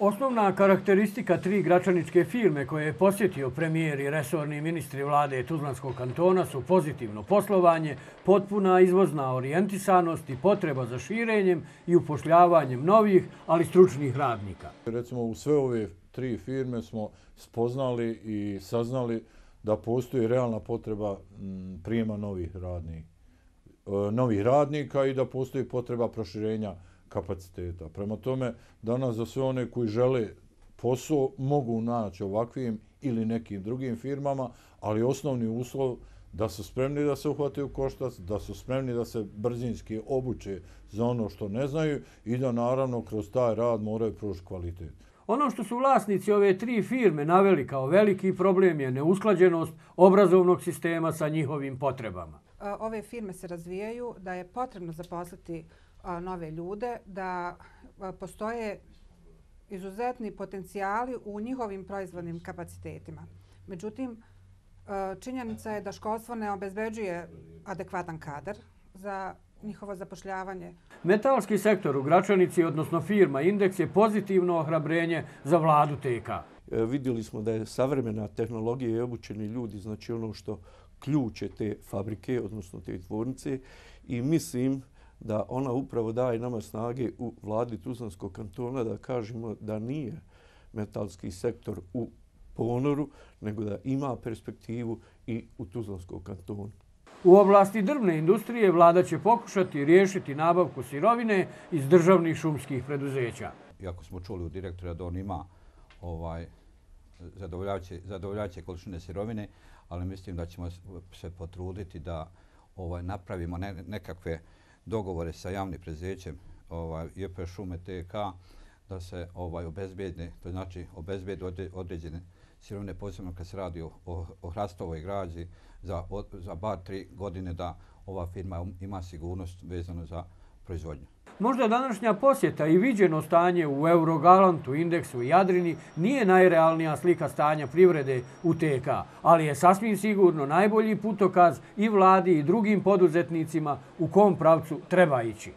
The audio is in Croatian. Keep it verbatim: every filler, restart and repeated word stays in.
Osnovna karakteristika tri gračaničke firme koje je posjetio premijer i resorni ministri vlade Tuzlanskog kantona su pozitivno poslovanje, potpuna izvozna orijentisanost i potreba za širenjem i upošljavanjem novih, ali stručnih radnika. Recimo u sve ove tri firme smo spoznali i saznali da postoji realna potreba prijema novih radnika, novih radnika i da postoji potreba proširenja kapaciteta. Prema tome, danas za sve one koji žele posao mogu naći ovakvim ili nekim drugim firmama, ali osnovni uslov da su spremni da se uhvate u koštac, da su spremni da se brzinski obuče za ono što ne znaju i da naravno kroz taj rad moraju pružiti kvalitet. Ono što su vlasnici ove tri firme naveli kao veliki problem je neusklađenost obrazovnog sistema sa njihovim potrebama. Ove firme se razvijaju, da je potrebno zaposliti nove ljude, da postoje izuzetni potencijali u njihovim proizvodnim kapacitetima. Međutim, činjenica je da školstvo ne obezbeđuje adekvatan kadar za njihovo zapošljavanje. Metalski sektor u Gračanici, odnosno firma Indeks, je pozitivno ohrabrenje za vladu T K. Vidjeli smo da je savremena tehnologija i obučeni ljudi, znači ono što ključe te fabrike, odnosno te tvornice, i mislim da ona upravo daje nama snage u vladi Tuzlanskog kantona da kažemo da nije metalski sektor u ponoru, nego da ima perspektivu i u Tuzlanskom kantonu. U oblasti drvne industrije vlada će pokušati riješiti nabavku sirovine iz državnih šumskih preduzeća. Iako smo čuli od direktora da on ima ovaj, zadovoljavajuće, zadovoljavajuće količine sirovine, ali mislim da ćemo se potruditi da ovaj, napravimo ne, nekakve dogovore sa javnim preduzećem ovaj, J P Šume T K da se ovaj, obezbedne, to znači obezbede određene sirovine, posebno kad se radi o, o, o hrastovoj građi za, za bar tri godine da ova firma ima sigurnost vezano za proizvodnju. Možda današnja posjeta i viđeno stanje u Eurogalantu, Indeksu i Jadrini nije najrealnija slika stanja privrede u T K, ali je sasvim sigurno najbolji putokaz i vladi i drugim poduzetnicima u kom pravcu treba ići.